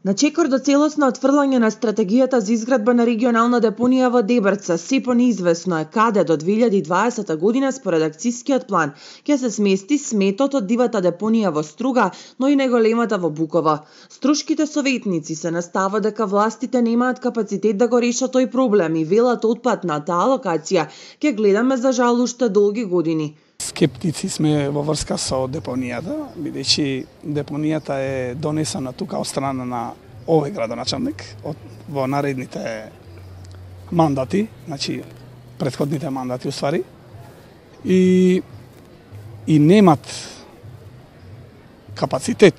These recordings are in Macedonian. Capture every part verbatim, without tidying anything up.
На чекор до целосно отфрлање на стратегијата за изградба на регионална депонија во Дебрца, сепо неизвестно е каде до две илјади и дваесета година според акцискиот план ќе се смести сметот од дивата депонија во Струга, но и неголемата во Буково. Струшките советници се настава дека властите немаат капацитет да го решат тој проблем и велат отпад на таа локација ќе гледаме за жал уште долги години. Скептици сме во врска со депонијата, бидејќи депонијата е донесена тука од страна на овој градоначалник од во наредните мандати, значи претходните мандати уствари, и и немат капацитет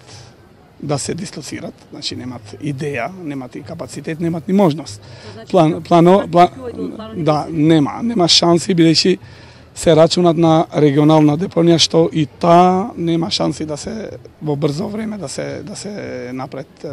да се дислоцират, значи немат идеја, немат и капацитет, немат ни можност. План, плано, план, да, нема, нема шанси бидејќи се рачунат на регионална депонија, што и таа нема шанси да се во брзо време да се да се напред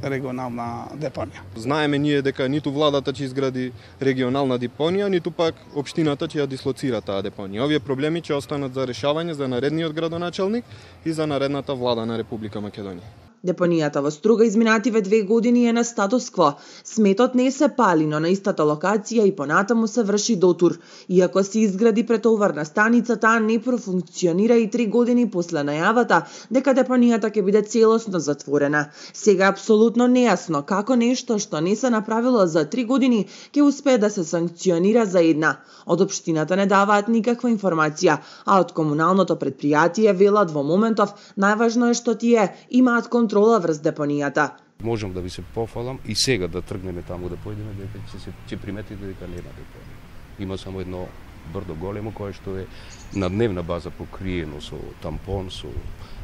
регионална депонија. Знаеме ние дека ниту владата ќе изгради регионална депонија, ниту пак општината ќе ја дислоцира таа депонија. Овие проблеми ќе останат за решавање за наредниот градоначалник и за наредната влада на Република Македонија. Депонијата во Струга изминативе две години е на статус кво. Сметот не се пали, но на истата локација и понатаму се врши дотур. Иако се изгради претоварна станица, таа не профункционира и три години после најавата дека депонијата ќе биде целосно затворена. Сега е апсолутно нејасно како нешто што не се направило за три години ќе успее да се санкционира за една. Од општината не даваат никаква информација, а од комуналното предпријатие велат во моментов најважно е што тие имаат контрола врз депонијата. Можам да ви се пофалам и сега да тргнеме таму да појдеме дека ќе се ќе приметите дека нема депонија. Има само едно брдо големо кое што е на дневна база покриено со тампон, со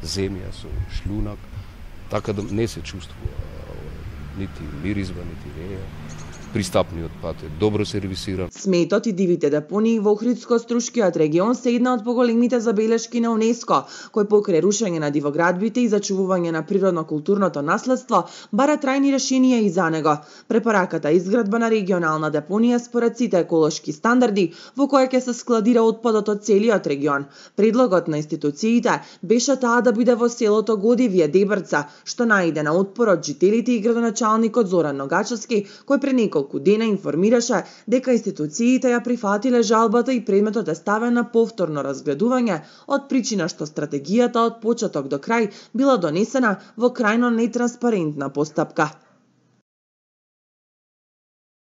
земја, со шлунак, така да не се чувствува нити миризба, нити реја. Пристапниот пат е добро сервисиран. Сметот и дивите депонии во Охридско-Струшкиот регион се една од поголемите забелешки на УНЕСКО, кој покрај рушење на дивоградбите и зачувување на природно-културното наследство бара трајни решенија и за него. Препораката изградба на регионална депонија според сите еколошки стандарди во која ќе се складира отпадот од целиот регион. Предлогот на институциите беше таа да биде во селото Годивје, Дебрца, што најде на отпор од жителите и градоначалникот Зоран Ногачевски, кој пред неколку дена информираше дека институциите ја прифатиле жалбата и предметот е ставен на повторно разгледување од причина што стратегијата од почеток до крај била донесена во крајно нетранспарентна постапка.